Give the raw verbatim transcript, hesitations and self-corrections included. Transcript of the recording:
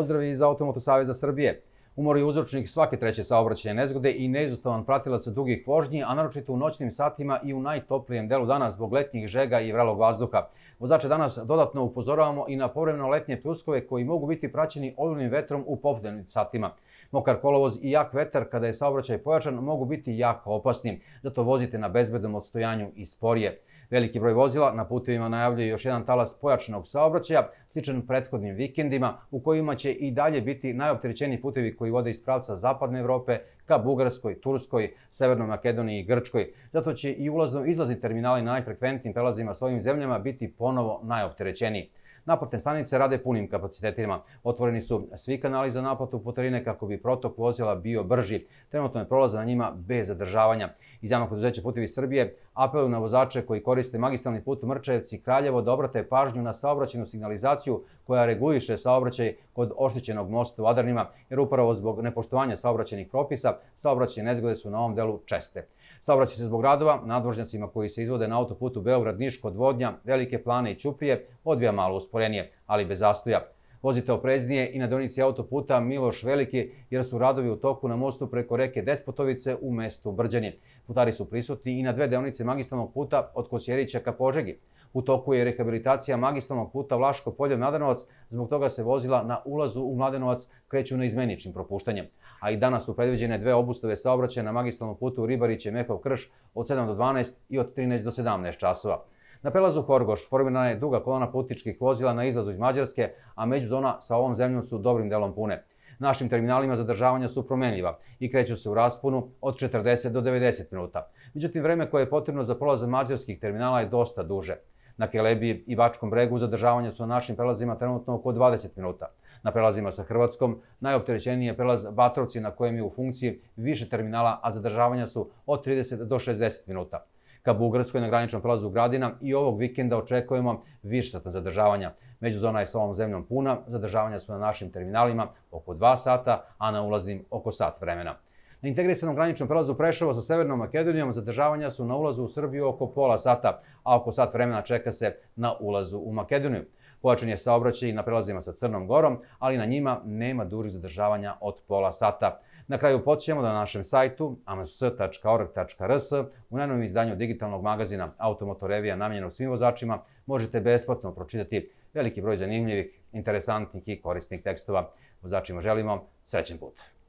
Pozdrav iz Automoto saveza Srbije. Umor je uzročnik svake treće saobraćajne nezgode i neizostavan pratilac dugih vožnji, a naročito u noćnim satima i u najtoplijem delu dana zbog letnjih žega i vrelog vazduha. Vozače danas dodatno upozoravamo i na povremeno letnje pljuskove koji mogu biti praćeni olujnim vetrom u popodnevnim satima. Mokar kolovoz i jak vetar kada je saobraćaj pojačan mogu biti jako opasni, zato vozite na bezbednom odstojanju i sporije. Veliki broj vozila na putevima najavljuje još jedan talas pojačanog saobraćaja, sličan prethodnim vikendima, u kojima će i dalje biti najopterećeniji putevi koji vode iz pravca Zapadne Evrope ka Bugarskoj, Turskoj, Severnoj Makedoniji i Grčkoj. Zato će i ulazno-izlazni terminali na najfrekventnijim prelazima s ovim zemljama biti ponovo najopterećeniji. Naplatne stanice rade punim kapacitetima. Otvoreni su svi kanali za naplatu putarine kako bi protok vozila bio brži. Trenutno je prolaza na njima bez zadržavanja. Iz Javnog preduzeća Putevi Srbije apeluju na vozače koji koriste magistralni put Mrčajevci-Kraljevo da obrate pažnju na saobraćajnu signalizaciju koja reguliše saobraćaj kod oštećenog mosta u Adarnima, jer upravo zbog nepoštovanja saobraćajnih propisa saobraćajne nezgode su na ovom delu česte. Saobraćaj se zbog radova na nadvožnjacima koji se izvode na autoputu Beograd-Niš kod Vodnja, Velike Plane i Ćuprije odvija malo usporenije, ali bez zastoja. Vozite opreznije i na deonici autoputa Miloš Veliki, jer su radovi u toku na mostu preko reke Despotovice u mestu Brđanje. Putari su prisutni i na dve deonice magistralnog puta od Kosjerića ka Požegi. U toku je rehabilitacija magistralnog puta Vlaško Polje-Mladenovac, zbog toga se vozila na ulazu u Mladenovac kreću neizmeničnim propuštanjem. A i danas su predviđene dve obustave saobraćaja na magistralnom putu Ribariće-Mehov Krš od sedam do dvanaest i od trinaest do sedamnaest časova. Na prelazu Horgoš formirana je duga kolona putničkih vozila na izlazu iz Mađarske, a međuzona sa ovom zemljom su dobrim delom pune. Našim terminalima zadržavanja su promenljiva i kreću se u rasponu od četrdeset do devedeset minuta. Međutim, vreme koje je potrebno za prolaz mađarskih terminala je dosta duže. Na Kelebiji i Bačkom Bregu zadržavanja su na našim prelazima trenutno oko dvadeset minuta. Na prelazima sa Hrvatskom najopterećeniji je prelaz Batrovci na kojem je u funkciji više terminala, a zadržavanja su od trideset do šezdeset minuta. Ka Bugarskoj na graničnom prelazu Gradina i ovog vikenda očekujemo višesatna zadržavanja. Međuzona je sa ovom zemljom puna, zadržavanja su na našim terminalima oko dva sata, a na ulaznim oko sat vremena. Na integrisanom graničnom prelazu Preševo sa Severnom Makedonijom zadržavanja su na ulazu u Srbiju oko pola sata, a oko sat vremena čeka se na ulazu u Makedoniju. Pojačan je saobraćaj i na prelazima sa Crnom Gorom, ali na njima nema dužih zadržavanja od pola sata. Na kraju podsjećamo da na našem sajtu a m s tačka org tačka r s u najnovijem izdanju digitalnog magazina Automoto revija namenjenog svim vozačima možete besplatno pročitati veliki broj zanimljivih, interesantnih i korisnih tekstova. Vozačima želimo srećan put!